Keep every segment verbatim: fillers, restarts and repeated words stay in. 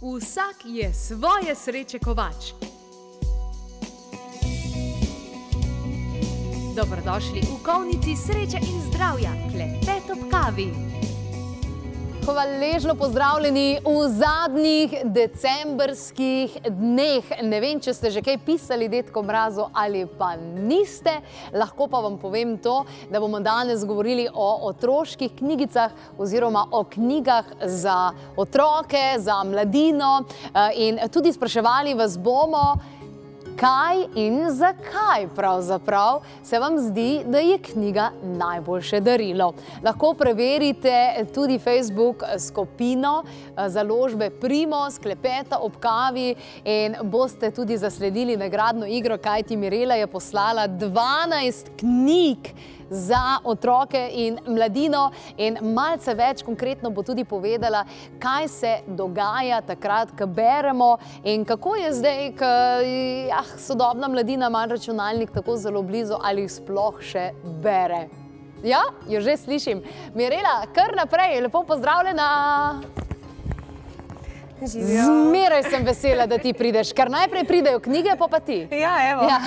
Vsak je svoje sreče kovač. Dobrodošli v kovnici sreče in zdravja, klepet ob kavi. Hvaležno pozdravljeni v zadnjih decembrskih dneh. Ne vem, če ste že kaj pisali Dedku Mrazu ali pa niste. Lahko pa vam povem to, da bomo danes govorili o otroških knjigicah oziroma o knjigah za otroke, za mladino in tudi spraševali vas bomo, kaj in zakaj pravzaprav se vam zdi, da je knjiga najboljše darilo. Lahko preverite tudi Facebook skupino založbe Primos, klepeta ob kavi in boste tudi zasledili nagradno igro, kajti Mirela je poslala dvanajst knjig za otroke in mladino in malce več konkretno bo tudi povedala, kaj se dogaja takrat, ko beremo in kako je zdaj, ko ah, sodobna mladina ima računalnik tako zelo blizu ali sploh še bere. Ja, jo že slišim. Mirela, kar naprej, lepo pozdravljena. Zmeraj sem vesela, da ti prideš, ker najprej pridejo knjige, pa pa ti. Ja, evo. Ja.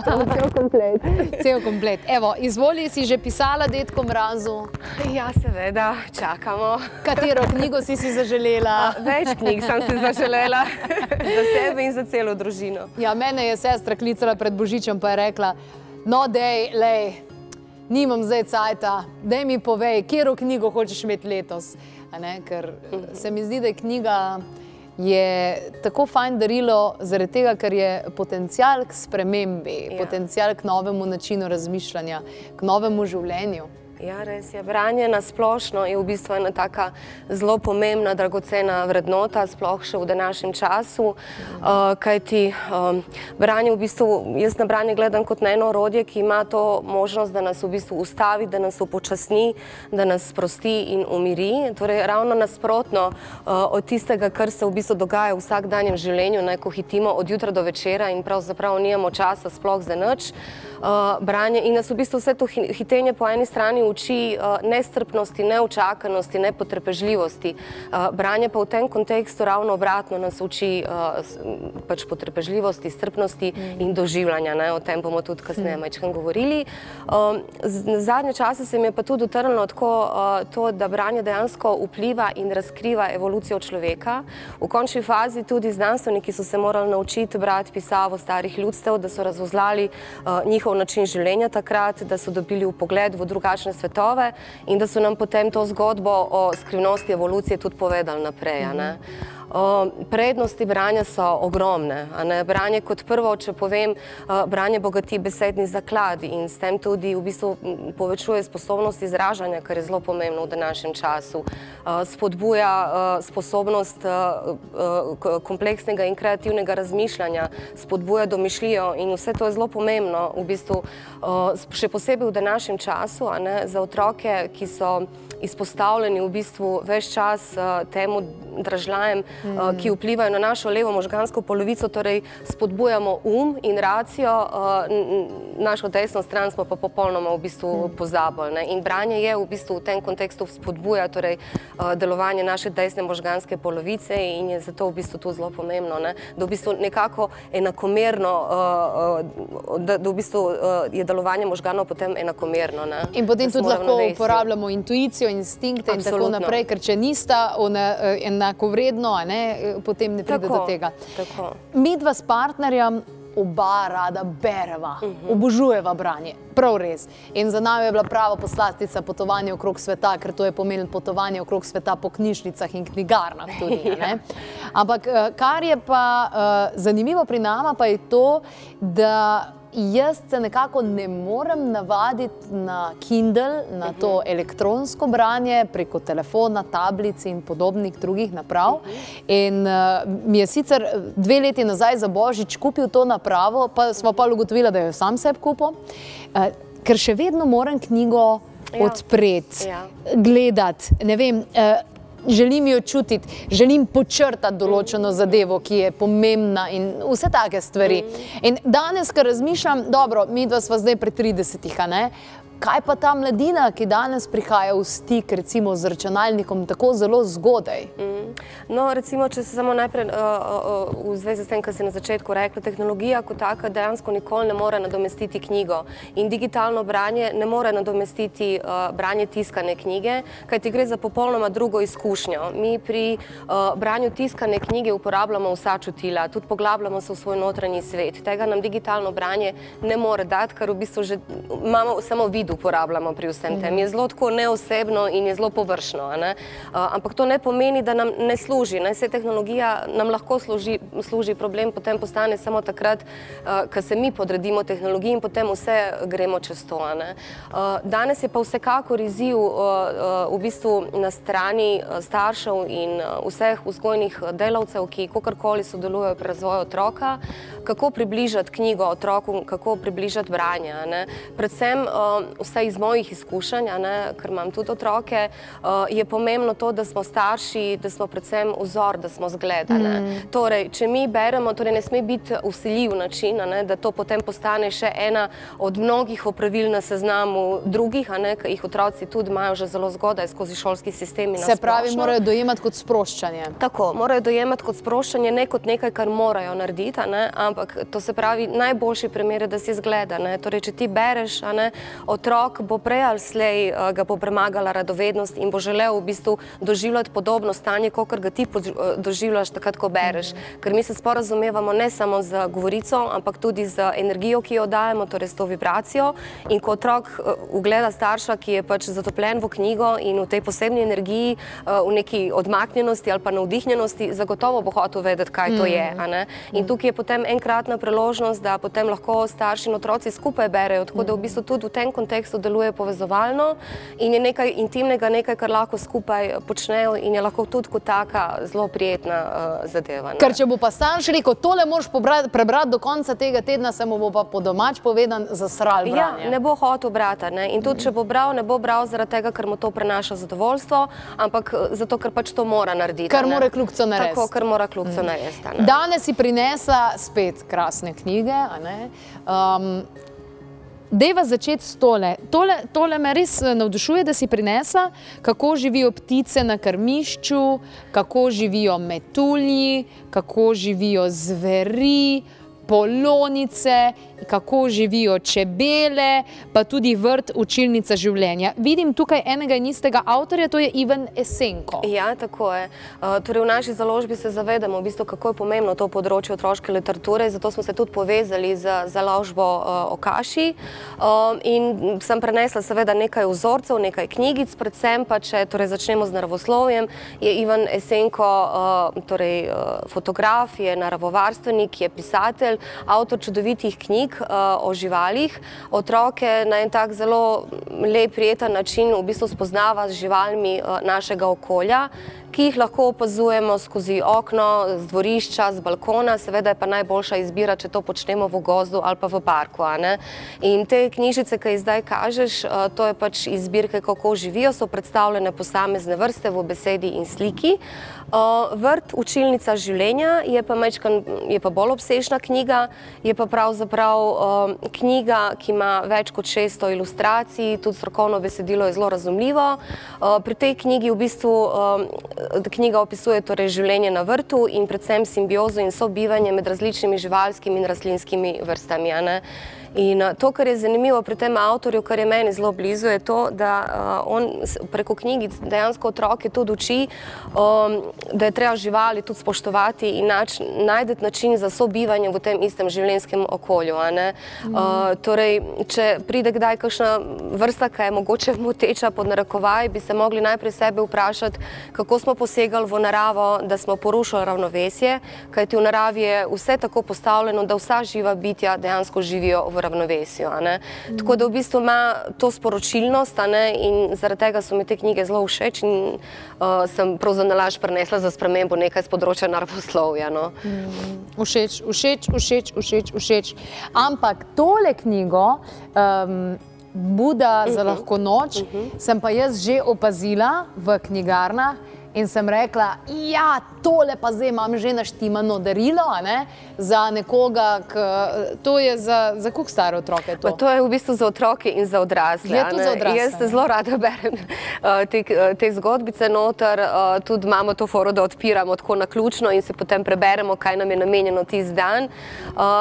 Cel komplet. Cel komplet. Evo, izvoli, si že pisala Dedku Mrazu? Ja, seveda, čakamo. Katero knjigo si si zaželela? Več knjig sem si zaželela. Za sebe in za celo družino. Ja, mene je sestra klicala pred Božičem, pa je rekla, no dej, lej, nimam zdaj cajta, dej mi povej, katero knjigo hočeš imeti letos. Ker se mi zdi, da je knjiga je tako fajn darilo zaradi tega, ker je potencial k spremembi, potencial k novemu načinu razmišljanja, k novemu življenju. Ja, res je. Branje na splošno je v bistvu ena taka zelo pomembna, dragocena vrednota, sploh še v današnjem času, kajti branje v bistvu, jaz na branje gledam kot na eno orodje, ki ima to možnost, da nas v bistvu ustavi, da nas upočasni, da nas sprosti in umiri. Torej, ravno nasprotno od tistega, kar se v bistvu dogaja v vsakdanjem življenju, ko hitimo od jutra do večera in pravzaprav nimamo časa sploh za nič. Branje in nas v bistvu vse to hitenje po eni strani uči nestrpnosti, neučakanosti, nepotrpežljivosti. Branje pa v tem kontekstu ravno obratno nas uči pač potrpežljivosti, strpnosti in doživljanja. O tem bomo tudi kasneje majčkeno govorili. Zadnje čase se mi je pa tudi utrnilo tako to, da branje dejansko vpliva in razkriva evolucijo človeka. V končni fazi tudi znanstveniki so se morali naučiti brati pisavo starih ljudstev, da so razvozlali njihov način življenja takrat, da so dobili vpogled v drugačne svetove in da so nam potem to zgodbo o skrivnosti evolucije tudi povedali naprej. Prednosti branja so ogromne. Branje kot prvo, če povem, branje bogati besedni zaklad in s tem tudi v bistvu povečuje sposobnost izražanja, kar je zelo pomembno v današnjem času. Spodbuja sposobnost kompleksnega in kreativnega razmišljanja, spodbuja domišljijo in vse to je zelo pomembno v bistvu, še posebej v današnjem času, za otroke, ki so izpostavljeni v bistvu ves čas temu dražljajem, ki vplivajo na našo levo možgansko polovico, torej spodbujamo um in racijo, našo desno stran smo pa popolnoma v bistvu pozabili. In branje je v bistvu v tem kontekstu spodbuja delovanje naše desne možganske polovice in je zato v bistvu to zelo pomembno, da v bistvu nekako enakomerno, da v bistvu je delovanje možganov potem enakomerno. In potem tudi lahko uporabljamo intuicijo, instinkte in tako naprej, ker če nista enakovredno, potem ne pride do tega. Midva s partnerjem oba rada bereva, obožujeva branje, prav res. In za nami je bila prava poslastica potovanje okrog sveta, ker to je pomenilo potovanje okrog sveta po knjižnicah in knjigarnah tudi. Ampak kar je pa zanimivo pri nama, pa je to, da jaz se nekako ne morem navaditi na Kindle, na to elektronsko branje preko telefona, tablic in podobnih drugih naprav. In mi je sicer dve leti nazaj za Božič kupil to napravo, pa smo pa ugotovila, da jo sam sebi kupil, ker še vedno moram knjigo odpreti, gledati, ne vem, želim jo čutiti, želim počrtati določeno zadevo, ki je pomembna in vse take stvari. In danes, ko razmišljam, dobro, midva sva zdaj pri tridesetih, a ne? Kaj pa ta mladina, ki danes prihaja v stik recimo z računalnikom tako zelo zgodaj? No, recimo, če se samo najprej v zvezi s tem, kar si na začetku rekla, tehnologija kot taka dejansko nikoli ne more nadomestiti knjigo in digitalno branje ne more nadomestiti branje tiskane knjige, kajti gre za popolnoma drugo izkušnjo. Mi pri branju tiskane knjige uporabljamo vsa čutila, tudi poglabljamo se v svoj notranji svet. Tega nam digitalno branje ne more dati, ker v bistvu že imamo samo vid uporabljamo pri vsem tem. Je zelo tako neosebno in je zelo površno. Ampak to ne pomeni, da nam ne služi. Vse tehnologija nam lahko služi, problem potem postane samo takrat, ko se mi podredimo tehnologiji in potem vse gremo čez to. Danes je pa vsekakor izziv v bistvu na strani staršev in vseh vzgojnih delavcev, ki kakorkoli sodelujejo pri razvoju otroka, kako približati knjigo otroku, kako približati branje. Predvsem, vse iz mojih izkušenj, ker imam tudi otroke, je pomembno to, da smo starši, da smo predvsem vzor, da smo zgled. Torej, če mi beremo, torej ne sme biti vsiljiv način, da to potem postane še ena od mnogih opravil na seznamu drugih, ki jih otroci tudi imajo že zelo zgodaj skozi šolski sistem in na splošno. Se pravi, morajo dojemati kot sproščanje. Tako, morajo dojemati kot sproščanje, ne kot nekaj, kar morajo narediti, ampak to se pravi, najboljši primer je, da si zgleda. Torej, če ti bereš, otrok bo prej ali slej ga bo premagala radovednost in bo želel v bistvu doživljati podobno stanje, kakor ga ti doživljaš takrat, ko bereš. Ker mi se sporazumevamo ne samo z govorico, ampak tudi z energijo, ki jo dajemo, torej s to vibracijo. In ko otrok ugleda starša, ki je pač zatopljen v knjigo in v tej posebni energiji, v neki odmaknjenosti ali pa navdihnjenosti, zagotovo bo hotel vedeti, kaj to je. In tukaj je potem enkratna priložnost, da potem lahko starši in otroci skupaj berejo, tako da v bistvu tudi v tem kontekstu deluje povezovalno in je nekaj intimnega, nekaj, kar lahko skupaj počnejo in je lahko tudi kot taka zelo prijetna zadeva. Ker če bo pa starš rekel, tole moraš prebrati do konca tega tedna, se mu bo pa po domač povedan zasral branje. Ja, ne bo hotel brati. In tudi, če bo bral, ne bo bral zaradi tega, ker mu to prenaša zadovoljstvo, ampak zato, ker pač to mora narediti. Ker mora kljubco narediti. Tako, ker mora kljubco narediti. Danes si prinesla spet krasne knjige. Dejva začeti s tole. Tole me res navdušuje, da si prinesla, kako živijo ptice na krmišču, kako živijo metulji, kako živijo zveri, polonice, kako živijo čebele, pa tudi vrt Učilnica življenja. Vidim tukaj enega in istega avtorja, to je Ivan Esenko. Ja, tako je. Torej, v naši založbi se zavedamo, v bistvu, kako je pomembno to področje otroške literature, zato smo se tudi povezali z založbo Okaši in sem prenesla seveda nekaj vzorcev, nekaj knjigic, predvsem pa, če začnemo z naravoslovjem, je Ivan Esenko fotograf, je naravovarstvenik, je pisatelj, avtor čudovitih knjig o živalih. Otroke na en tak zelo lep, prijeten način v bistvu spoznava z živalmi našega okolja, ki jih lahko opazujemo skozi okno, z dvorišča, z balkona. Seveda je pa najboljša izbira, če to počnemo v gozdu ali pa v parku. In te knjižice, ki jih zdaj kažeš, to je pač iz zbirke Kako živijo, so predstavljene posamezne vrste v besedi in sliki. Vrt Učilnica življenja je pa bolj obsežna knjiga, je pa pravzaprav knjiga, ki ima več kot šeststo ilustracij, tudi strokovno besedilo je zelo razumljivo. Pri tej knjigi v bistvu knjiga opisuje življenje na vrtu in predvsem simbiozo in sobivanje med različnimi živalskimi in rastlinskimi vrstami. In to, kar je zanimivo pri tem avtorju, kar je meni zelo blizu, je to, da on preko knjigic dejansko otroke tudi uči, da je treba živali tudi spoštovati in najdeti način za sobivanje v tem istem življenjskem okolju. Torej, če pride kdaj kakšna vrsta, ki je mogoče moteča pod narekovaj, bi se mogli najprej sebe vprašati, kako smo posegali v naravo, da smo porušili ravnovesje, kajti v naravi je vse tako postavljeno, da vsa živa bitja dejansko živijo v ravnovesju. Tako da v bistvu ima to sporočilnost in zaradi tega so mi te knjige zelo všeč in sem prav za nalaž prinesla za spremembo nekaj z področja naravoslovja. Všeč, všeč, všeč, všeč, všeč. Ampak tole knjigo Buda za lahko noč sem pa jaz že opazila v knjigarnah in sem rekla, ja, tole pa zdaj imam že naštimano darilo, ne, za nekoga, to je za, za koliko stare otroke to? Pa to je v bistvu za otroke in za odrasle. Je to za odrasle? Jaz zelo rada berem te, te zgodbice noter, tudi imamo to foro, da odpiramo tako naključno in se potem preberemo, kaj nam je namenjeno tisti dan.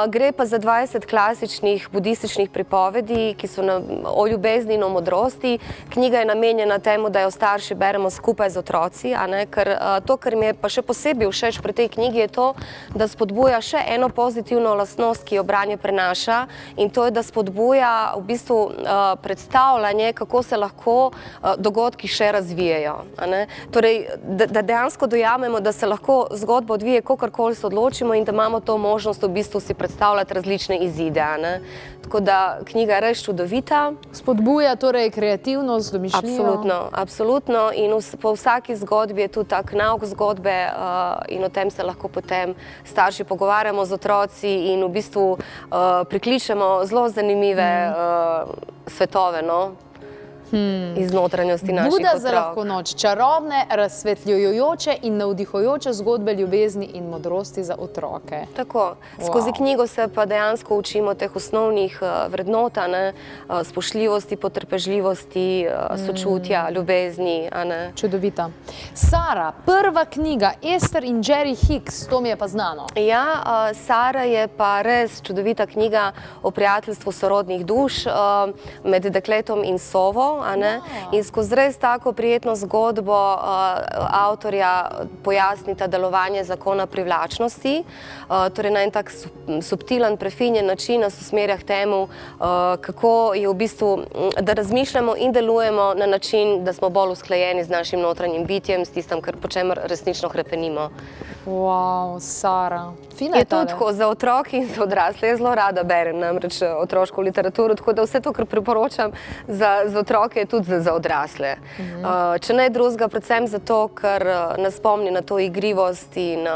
Gre pa za dvajset klasičnih budističnih pripovedi, ki so na, o ljubezni in o modrosti. Knjiga je namenjena temu, da jo starši beremo skupaj z otroci, a ne, ker to, kar mi je pa še posebej všeč pri tej knjigi, je to, da spodbuja še eno pozitivno lastnost, ki jo branje prenaša, in to je, da spodbuja v bistvu predstavljanje, kako se lahko dogodki še razvijajo. Torej, da dejansko dojamemo, da se lahko zgodba odvije, kakorkoli se odločimo in da imamo to možnost v bistvu si predstavljati različne izide. Tako da knjiga je res čudovita. Spodbuja torej kreativnost, domišljijo? Absolutno, absolutno. In po vsaki zgodbi je tudi tak nauk zgodbe in o tem se lahko potem starši pogovarjamo z otroci in v bistvu prikličemo zelo zanimive svetove, no? Iz notranjosti naših otrok. Buda za lahko noč, čarobne, razsvetljujoče in navdihujoče zgodbe ljubezni in modrosti za otroke. Tako. Skozi knjigo se pa dejansko učimo teh osnovnih vrednot, spoštljivosti, potrpežljivosti, sočutja, ljubezni. Čudovita. Sara, prva knjiga, Ester in Jerry Hicks, to mi je pa znano. Ja, Sara je pa res čudovita knjiga o prijateljstvu sorodnih duš med dekletom in sovo. In skozi res tako prijetno zgodbo avtorja pojasnita delovanje zakona privlačnosti, torej na en tak subtilen, prefinjen način nas usmerja k temu, kako je v bistvu, da razmišljamo in delujemo na način, da smo bolj usklajeni z našim notranjim bitjem, s tistem, kar po čemer resnično hrepenimo. Wow, Sara. Fina je to. Je tudi tako za otroke in za odrasle. Jaz zelo rada berem namreč otroško literaturo, tako da vse to, kar priporočam za otroke, je tudi za odrasle. Če ne drugega, predvsem zato, ker nas spomni na to igrivost in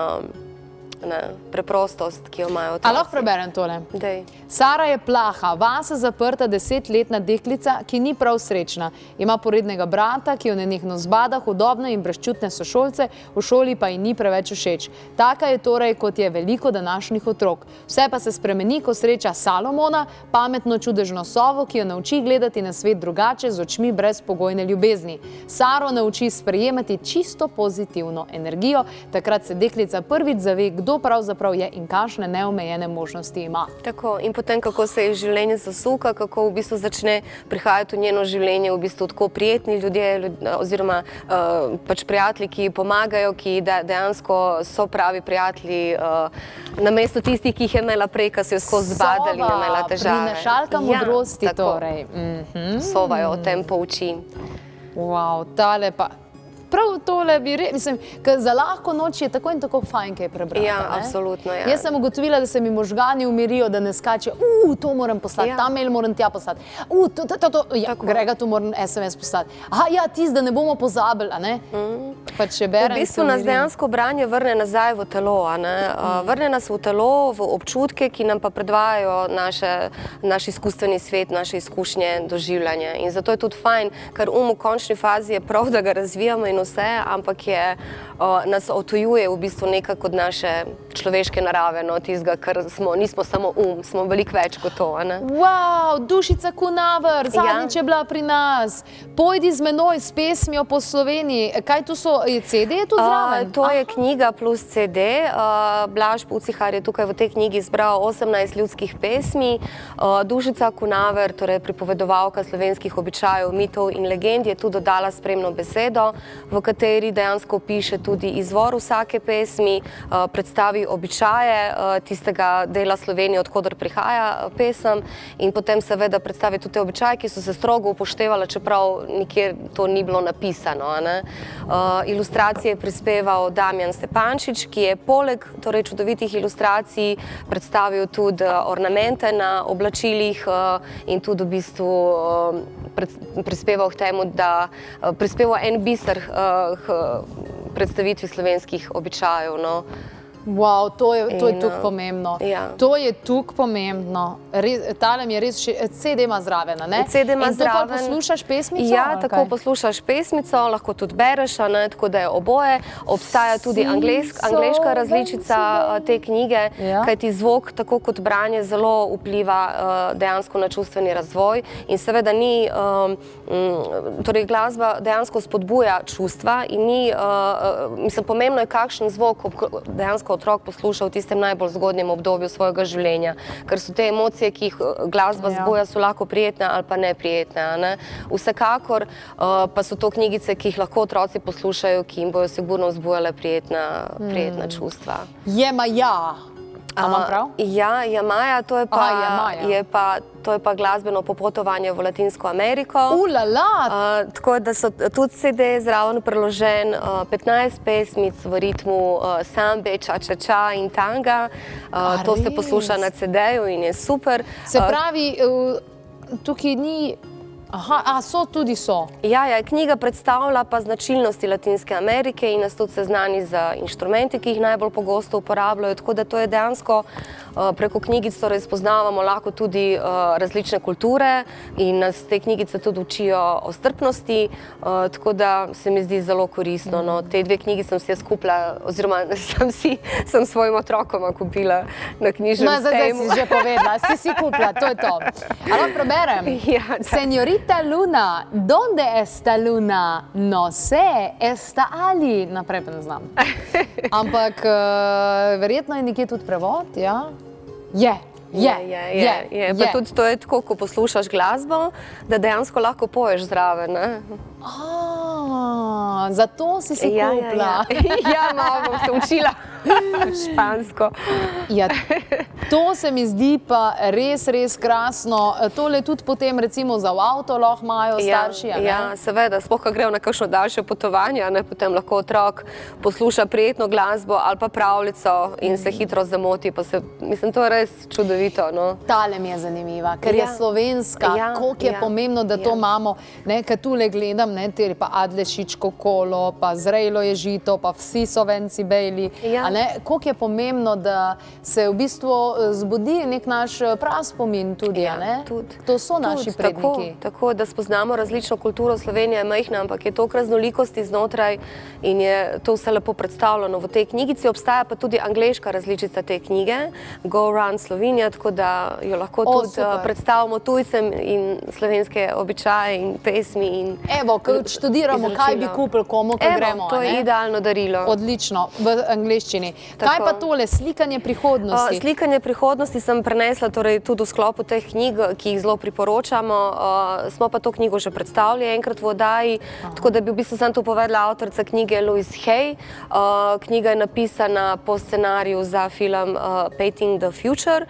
preprostost, ki jo imajo otroci. A lahko preberem tole? Dej. Sara je plaha, vase zaprta desetletna deklica, ki ni prav srečna. Ima porednega brata, ki jo nenehno zbada, hudobne in brezčutne sošolce, v šoli pa ji ni preveč všeč. Taka je torej, kot je veliko današnjih otrok. Vse pa se spremeni, ko sreča Salomona, pametno čudežno sovo, ki jo nauči gledati na svet drugače, z očmi brezpogojne ljubezni. Saro nauči sprejemati čisto pozitivno energijo, takrat se deklica prvič zave, kdo pravzaprav je in kakšne neomejene možnosti ima. Tako, in potem, kako se je življenje zasuka, kako v bistvu začne prihajati v njeno življenje v bistvu tako prijetni ljudje oziroma pač prijatelji, ki pomagajo, ki dejansko so pravi prijatelji namesto tistih, ki jih je imela prej, ki so jo skozi zbadali in imela težave. Prinašalka modrosti torej. Sova jo o tem pouči. Wow, tale pa... Prav tole bi rekel, mislim, ker za lahko noč je tako in tako fajn, kaj prebrati. Ja, absolutno, ja. Jaz sem ugotovila, da se mi možgani umirijo, da ne skače, uuu, to moram poslati, ta mail moram tja poslati, uuu, to, to, to, ja, Grega, tu moram es em es poslati. Aha, ja, tisti, da ne bomo pozabili, a ne? Pa če berem, v bistvu nas dejansko branje vrne nazaj v telo, a ne? Vrne nas v telo, v občutke, ki nam pa predvajajo naš izkustveni svet, naše izkušnje, doživljanje. In zato je tudi fajn, ker um v končni fazi je prav, da ga razvijamo in vse, ampak je, nas otujuje v bistvu nekako od naše človeške narave, no, tistega, ker smo, nismo samo um, smo veliko več kot to, a ne? Wow, Dušica Kunaver, zadnjič je bila pri nas. Pojdi z menoj s pesmijo po Sloveniji. Kaj tu so, je ce de je tu zraven? To je knjiga plus ce de. Blaž Pucihar je tukaj v tej knjigi zbral osemnajst ljudskih pesmi. Dušica Kunaver, torej pripovedovalka slovenskih običajev, mitov in legend, je tu dodala spremno besedo, v kateri dejansko piše tudi izvor vsake pesmi, predstavi običaje tistega dela Slovenije, odkudar prihaja pesem, in potem seveda predstavi tudi te običaje, ki so se strogo upoštevali, čeprav nikjer to ni bilo napisano. Ilustracije je prispeval Damjan Stepančič, ki je poleg čudovitih ilustracij predstavil tudi ornamente na oblačilih in tudi v bistvu prispeval k temu, da prispeval en biser k predstavitvi slovenskih običajev. Wow, to je tukaj pomembno. To je tukaj pomembno. Tale mi je res C D ima zraven, ne? C D ima zraven. In to pa poslušaš pesmico? Ja, tako poslušaš pesmico, lahko tudi bereš, tako da je oboje. Obstaja tudi angleška različica te knjige, kajti zvok, tako kot branje, zelo vpliva dejansko na čustveni razvoj in seveda ni, torej glasba dejansko spodbuja čustva in ni, mislim, pomembno je, kakšen zvok dejansko otrok posluša v tistem najbolj zgodnjem obdobju svojega življenja, ker so te emocije, ki jih glasba zbuja, so lahko prijetne ali pa neprijetne. Vsekakor pa so to knjigice, ki jih lahko otroci poslušajo, ki jim bojo sigurno vzbujale prijetna čustva. Jemaja. A imam prav? Ja, Jemaja, to je pa glasbeno popotovanje v Latinsko Ameriko. Ulala! Tako da so tudi C D zraven preložen, petnajst pesmic v ritmu sambe, ča-ča-ča in tanga. To se posluša na C D-ju in je super. Se pravi, tukaj ni... Aha, a so, tudi so. Ja, ja, knjiga predstavlja pa značilnosti Latinske Amerike in nas tudi seznani z inštrumenti, ki jih najbolj pogosto uporabljajo, tako da to je dejansko preko knjigic torej spoznavamo lahko tudi različne kulture in nas te knjigice tudi učijo o strpnosti, tako da se mi zdi zelo koristno. Te dve knjigi sem si jaz kupila, oziroma sem svojim otrokoma kupila na knjižnem sejmu. No, zdaj si že povedala, si si kupila, to je to. Ali preberem? Señorita Luna, donde está Luna? No sé, está ali. Naprej pa ne znam. Ampak verjetno je nekje tudi prevod, ja? Je. Je, je, je. Pa tudi to je tako, ko poslušaš glasbo, da dejansko lahko poješ zraven. Zato si si kupila. Ja, malo bom se učila špansko. To se mi zdi pa res, res krasno. Tole tudi potem recimo za v avto lahko imajo starši, a ne? Ja, seveda, sploh, ko grejo na kakšno daljše potovanje, potem lahko otrok posluša prijetno glasbo ali pa pravljico in se hitro zamoti. Mislim, to je res čudovito. Tale mi je zanimiva, ker je slovenska, koliko je pomembno, da to imamo. Ker tule gledam, pa Adlešičko kolo, pa Zrejlo je žito, pa vsi so venci bejli. Koliko je pomembno, da se v bistvu zbudi nek naš praspomin tudi, a ne? To so naši predniki. Tako, da spoznamo različno kulturo. Slovenija je majhna, ampak je toliko raznolikosti znotraj in je to vse lepo predstavljeno v tej knjigici. Obstaja pa tudi angleška različica te knjige, Go Around Slovenia, tako da jo lahko tudi predstavimo tujcem in slovenske običaje in pesmi. Evo, ko študiramo, kaj bi kupili komu, ko gremo. Evo, to je idealno darilo. Odlično, v angleščini. Kaj pa tole, slikanje prihodnosti? Slikanje prihodnosti sem prenesla tudi v sklopu teh knjig, ki jih zelo priporočamo. Smo pa to knjigo že predstavili enkrat v oddaji, tako da bi v bistvu sem to povedala avtorica knjige Louise Hay. Knjiga je napisana po scenariju za film Painting the Future.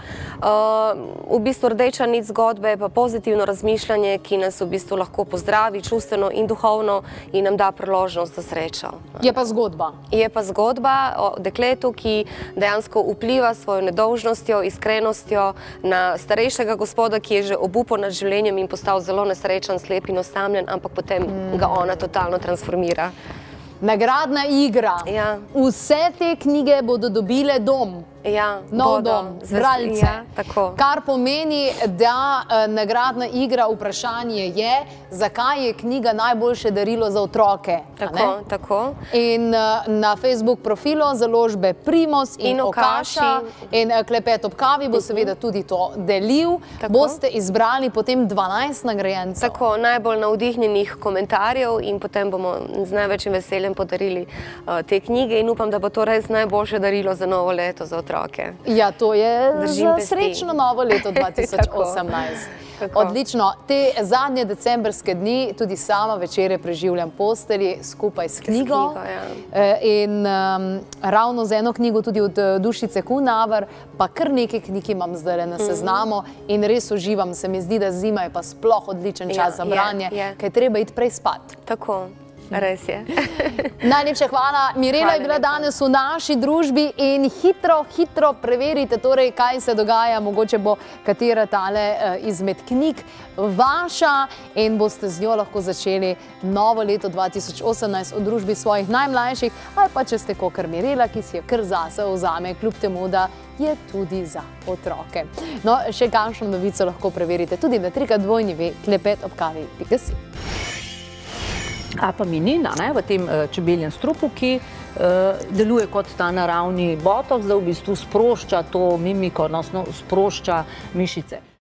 V bistvu rdeča nit zgodbe je pa pozitivno razmišljanje, ki nas v bistvu lahko pozdravi čustveno in duhovno in nam da priložnost za srečo. Je pa zgodba. Je pa zgodba o dekletu, ki dejansko vpliva svojo nedolžnostjo, iskrenostjo na starejšega gospoda, ki je že obupal nad življenjem in postal zelo nesrečen, slep in osamljen, ampak potem ga ona totalno transformira. Nagradna igra. Vse te knjige bodo dobile dom. Nov dom, bralce. Kar pomeni, da nagradna igra vprašanje je, zakaj je knjiga najboljše darilo za otroke. Tako, tako. In na Facebook profilu založbe Primos in Okaša in Klepet ob kavi bo seveda tudi to delil. Boste izbrali potem dvanajst nagrajencev. Tako, najbolj navdihnjenih komentarjev in potem bomo z največjim veseljem podarili te knjige in upam, da bo to res najboljše darilo za novo leto za otroke. Ja, to je za srečno novo leto dva tisoč osemnajst. Odlično. Te zadnje decembrske dni tudi sama večere preživljam postelji skupaj s knjigo. In ravno z eno knjigo tudi od Dušice Kunaver, pa kar nekaj knjig imam zdaj na seznamu in res uživam. Se mi zdi, da zima je pa sploh odličen čas za branje, ker je treba iti prej spat. Tako. Res je. Najlepša hvala. Mirela je bila danes v naši družbi in hitro, hitro preverite, torej, kaj se dogaja. Mogoče bo katera tale izmed knjig vaša in boste z njo lahko začeli novo leto dva tisoč osemnajst v družbi svojih najmlajših, ali pa če ste kakor Mirela, ki si jo kar zase vzame, kljub temu, da je tudi za otroke. No, še kakšno novico lahko preverite tudi na trikrat dvojni ve klepet ob kavi pika si. Apaminina v tem čebeljem strupu, ki deluje kot ta naravni botoks, da v bistvu sprošča to mimiko, odnosno sprošča mišice.